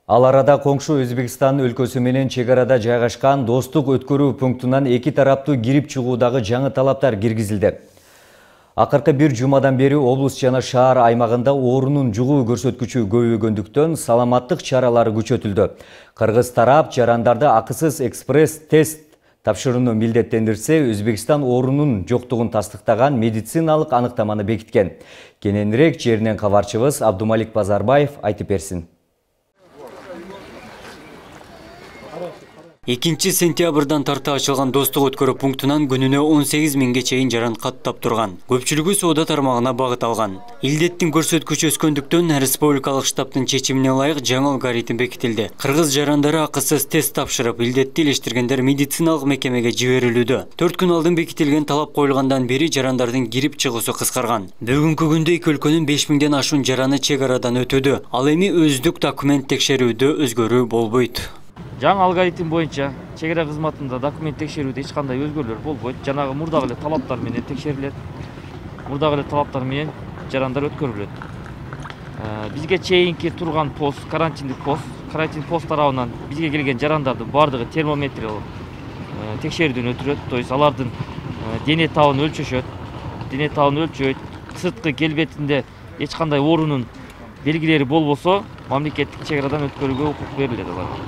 Ал арада коңшу Өзбекстан өлкөсү менен чек арада жайгашкан достук өткөрүү пунктунан эки тараптуу кирип чыгуудагы жаңы талаптар киргизилди. Акыркы бир жумадан бери облус жана шаар аймагында оорунун жугуу көрсөткүчү көбөйгөндүктөн саламаттык чаралары күчөтүлдү. Кыргыз тарап жарандарды акысыз экспресс тест тапшырууну милдеттендирсе, Өзбекстан оорунун жоктугун тастыктаган медициналык аныктаманы бекиткен. Кененирээк жеринен кабарчыбыз Абдумалик Базарбаев айтып берсин. 2 сентябрдан тарта ачылган достук өткөрүү пунктунан күнүнө 18 миңге чейин жаран каттап турган. Көпчүлүгү соода тармагына багыт алган. Илдеттин көрсөткүчү өскөндүктөн республикалык штабтын чечимине ылайык жаңы алгоритм бекитилди. Кыргыз жарандары акысыз тест тапшырып, илдетти илештиргендер медициналык мекемеге жиберилүүдө. 4 күн алдын бекитилген талап коюлгандан бери жарандардын кирип чыгуусу кыскарган. Бүгүнкү күндө эки өлкөнүн 5000ден ашуун жараны чек арадан өтүүдө. Ал эми өздүк документ текшерүүдө өзгөрүү болбойт. Жаңы алгоритм боюнча чек ара кызматында документ текшерүүдө эч кандай өзгөрүүлөр болбойт. Жанагы мурдагы эле талаптар менен текшерилет. Мурдагы эле талаптар менен жарандар өткөрүлөт. Бизге чейинки турган пост, карантиндик пост, карантин пост тарабынан бизге келген жарандардын бардыгы термометриялык текшерүүдөн өтүлөт. То есть алардын дене табын өлчөшөт. Дене табын өлчөйт. Сырткы келбетинде эч кандай оорунун белгилери болбосо, мамлекеттик чек арадан өткөрүүгө укук берилет аларга.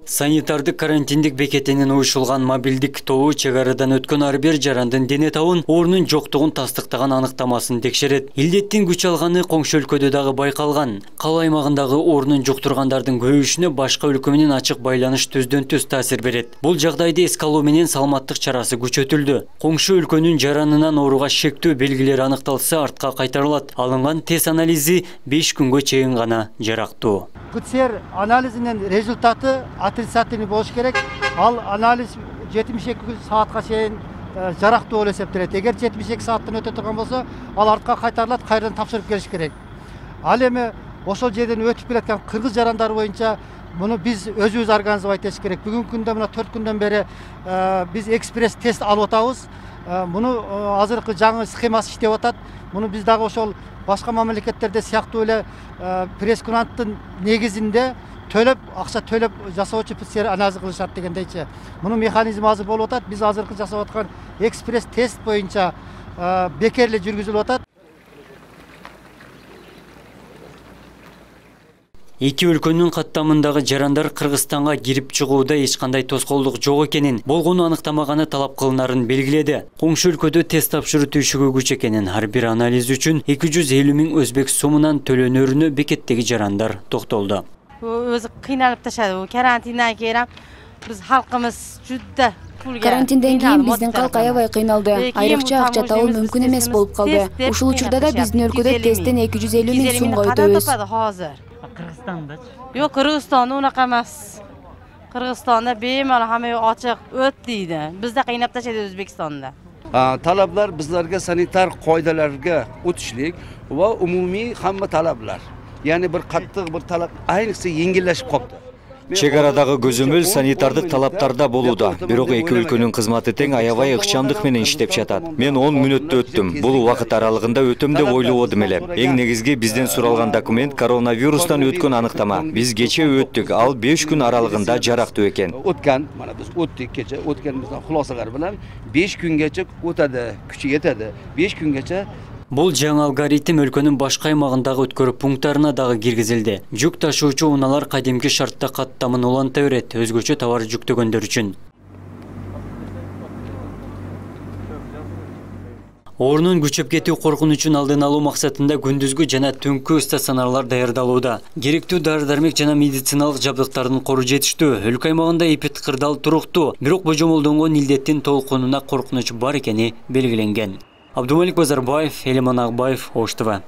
Санитардык карантиндик бекетинен уюшулган мобилдик тобу чек арадан өткөн ар бир жарандын дене табын оорунун жоктугун тастыктаган аныктамасын текшерет. Илдеттин күч алганы коңшу өлкөдө дагы байкалган. Кала аймагындагы оорунун жуктургандардын көбөйүшүнө башка өлкө менен ачык байланыш түздөн-түз таасир берет. Бул жагдайды эске алуу менен саламаттык чарасы күчөтүлдү. Коңшу өлкөнүн жаранынан ооруга шектүү белгилери аныкталса, артка кайтарылат. Алынган тест анализи 5 күнгө чейин гана жарактуу. ПЦР анализинин результаты отрицательный болуш керек. Ал анализ 72 саатка чейин жарактуу болуп эсептелет. Эгер 72 сааттан өтө турган болсо, ал артка кайтарылат, кайрадан тапшырып келиш керек. Ал эми ошол жерден өтүп келаткан кыргыз жарандары боюнча муну биз өзүбүз организовать этиш керек. Бүгүнкү күндө мына 4 күндөн бери биз экспресс тест алып атабыз. Муну азыркы жаңы схемасы иштеп атат. Муну биз дагы ошол башка мамлекеттерде сыяктуу эле пресс-куранттын негизинде төлөп, акча төлөп жасоочу ПЦР анализ кылышат дегендейчи. Мунун механизми азыр болуп атат. Биз азыркы жасап аткан экспресс тест боюнча бекер эле жүргүзүлүп атат. Эки өлкөнүн каттамындагы жарандар Кыргызстанга кирип чыгууда эч кандай тоскоолдук жок экенин, болгону аныктамаганы талап кылынарын белгиледи. Коңшу өлкөдө тест тапшыруу түйшүгү күч экенин, ар бир анализ үчүн 250 миң өзбек сомунан төлөнөрүнө бекеттеги жарандар токтолду. Өзү кыйналып ташады. Карантиндан кийин биз халкыбыз жудда Карантинден кийин биздин калк аябай кыйналды. Айрыкча акча табуу мүмкүн эмес болуп калды. Ушул учурда да биздин өлкөдө тесттен 250 миң сомго өтөбүз. Кыргызстандачы? Yok, Kırgızstanda unaqa emas. Kırgızstanda bemalol hamma ochiq o't deydi. Bizda qiynab tashlaydi O'zbekistonda. Talablar bizlarga sanitar qoidalarga o'tishlik va umumiy hamma talablar. Ya'ni bir qattiq bir talab ayniqsa yengillashib qoldi. Чек арадагы көзөмөл санитардык талаптарда болууда. Бирок эки өлкөнүн кызматы тең аябай ыкчамдык менен иштеп жатат. Мен 10 мүнөттө өттүм. Бул убакыт аралыгында өтөм деп ойлободум эле. Эң негизги бизден суралган документ коронавирустан өткөн аныктама. Биз кече өттүк, ал 5 күн аралыгында жарактуу экен. Өткөн, мана биз өттүк кече, өткөнүбүздөн хулосалар менен 5 күнгече өтөдү, күчү жетеди. 5 күнгече Бул жаңы алгоритм өлкөнүн башка аймагындагы өткөрүү пункттарына дагы киргизилди. Жүк ташуучу унаалар кадимки шартта каттамын уланта берет, өзгөчө товар жүктөгөндөр үчүн. Оорунун күчөп кетүү коркунучун алдын алуу максатында күндүзгү жана түнкү стационарлар даярдалууда. Керектүү дары-дармек жана медициналык жабдыктардын кору жетиштүү. Өлкө аймагында эпидкырдал туруктуу, бирок божомолдонгон илдеттин толкунуна коркунуч бар экени белгиленген. Абдумалик Базарбаев, Элиман Акбаев, Ош ТВ.